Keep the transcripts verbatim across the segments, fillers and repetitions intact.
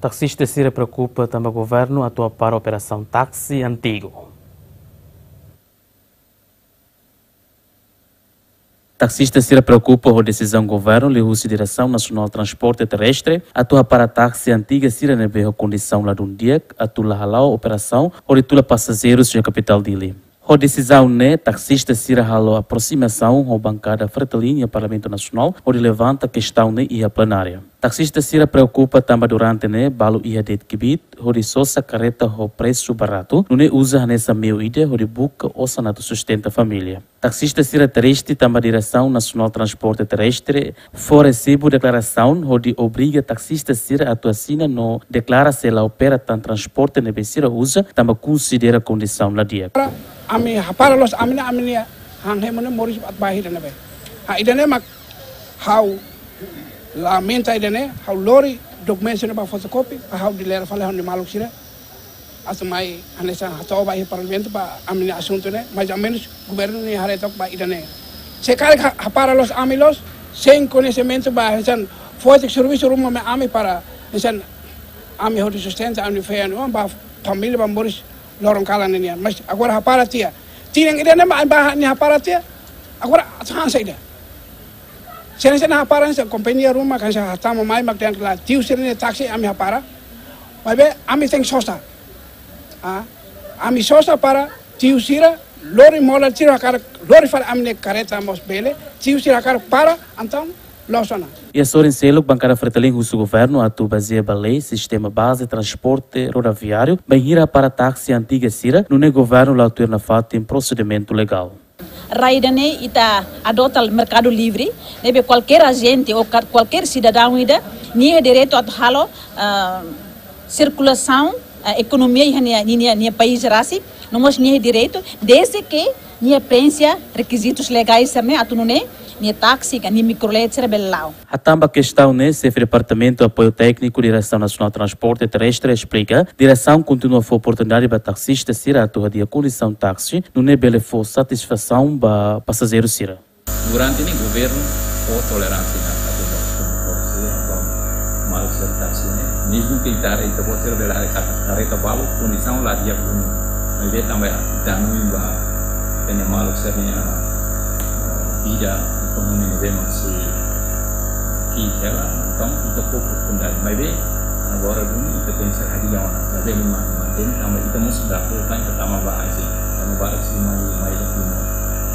Taksista sira preokupa tanba governu atu hapara operasaun táksi antigu. Taksista sira preokupa ho desizaun governu liuhusi Diresaun Nasionál Transporte Terrestre atu hapara táksi antiga sira ne'ebé ho kondisaun ladún di'ak atu la hala'o operasaun hodi tula pasajeiru iha kapitál Dili. Ho desizaun ne'e, taksista sira halo aprosimasaun ho bankada Fretilin iha Parlamentu Nasionál hodi levanta kestaun ne'e iha plenária. Taksista sira preokupa tanba durante ne'e balu iha de'it kbiit hodi sosa karreta ho presu baratu, nune'e uza hanesan meiu ida hodi buka osan atu sustenta família. Taksista sira triste tanba Diresaun Nasionál Transporte Terrestre fó resibu deklarasaun hodi obriga taksista sira atu asina no deklara sei la opera tan transporte ne'ebé sira uza tanba konsidera kondisaun la di'ak. Ami hapara loos ami-nia, ami-nia han hemu ne'e moris atu bá iha ida-ne'ebé. Ha ida-ne'e mak ha'u lamenta ida-ne'e, ha'u lori dokumentu ne'e ba fotokopi, ba ha'u dilera fali ha'u-nia maluk sira. Atu mai hanesan hato'o ba iha Parlamentu ba ami-nia asuntu ne'e, mais ou menus governu ne'e haree took ba ida-ne'e. Se karik ha-, hapara loos ami loos, sein koñesimentu ba hanesan fó tiha servisu ruma mai ami para hanesan ami hodi sustenta ami-nia feen, ba família ba moris loron kalan ne'e nian. Mais agora hapara tiha. Tinan ida-ne'e mak ami bá ne'e hapara tiha. Agora atu han saida. Se hanesan hapara hanesan kompañia ruma hanesan hatama mai mak dehan katak tiu sira-nia táksi ami hapara. Maibé ami tenke sosa. Ah, ami sosa para tiu sira lori mola tiu hakarak lori fali ami-nia karreta mós bele, tiu sira hakarak para, entaun loos ona. Iha sorin seluk, bankada Fretilin husu governu atu bazeia ba lei sistema baze transporte rodoviáriu bainhira hapara táksi antiga sira, nune'e governu la tuir nafatin prosedimentu legál. Rai ida-ne'e ita adota merkadu livre, ne'ebé kualkér ajente ou ka-, kualkér sidadaun ida, nia iha direitu atu halo, ah, sirkulasaun, ah, ekonomia iha nia, nia, nia país rasik, no mós nia iha direitu, desde que nia preenxe rekizitus legais sira-ne'e atu nune'e, nia táksi ka nia mikrolet sira bele la'o. Hatán ba kestaun ne'e, Xefe Departamentu Apoiu Tékniku Diresaun Nasionál Transporte Terrestre esplika, diresaun kontinua fó oportunidade ba taksista sira atu hadi'a kondisaun táksi, nune'e bele fó satisfasaun ba pasajeiru sira. Durante ne'e governu fó toleránsia iha atu ba kondutór sira, ba maluk sira táksi ne'e. Mezmu ke ita haree, ita-boot sira bele haree katak karreta balu kondisaun la di'ak duni. Maibé tanba danoin ba ita-nia maluk sira-nia, eh, vida ekonomia ne'ebé mak sei ki'ik hela, entaun ita fó oportunidade. Maibé agora duni ita tenke ser hadi'a ona. Maibé ema mantein tanba ita mós atu tama ba asin, tama ba asin mai, mai Timor.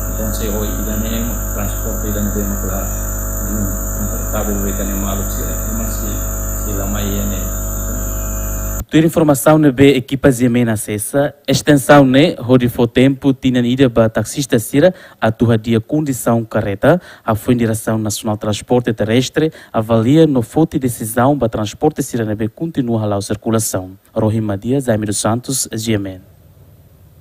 Entaun se ho ida-ne'e mak transporte ida-ne'ebé mak la, hmm, konfortavel ba ita-nia maluk sira, ema sei, sei la mai iha ne'e. Tuir informasaun ne'ebé ekipa G M N asesa, estensaun ne'e hodi fó tempu tinan ida ba taksista sira atu hadi'a kondisaun karreta, hafoin Diresaun Nasionál Transporte Terrestre avalia no foti desizaun ba transporte sira ne'ebé kontinua hala'o sirkulasaun. Rohima Dias, Jaime dos Santos, G M N.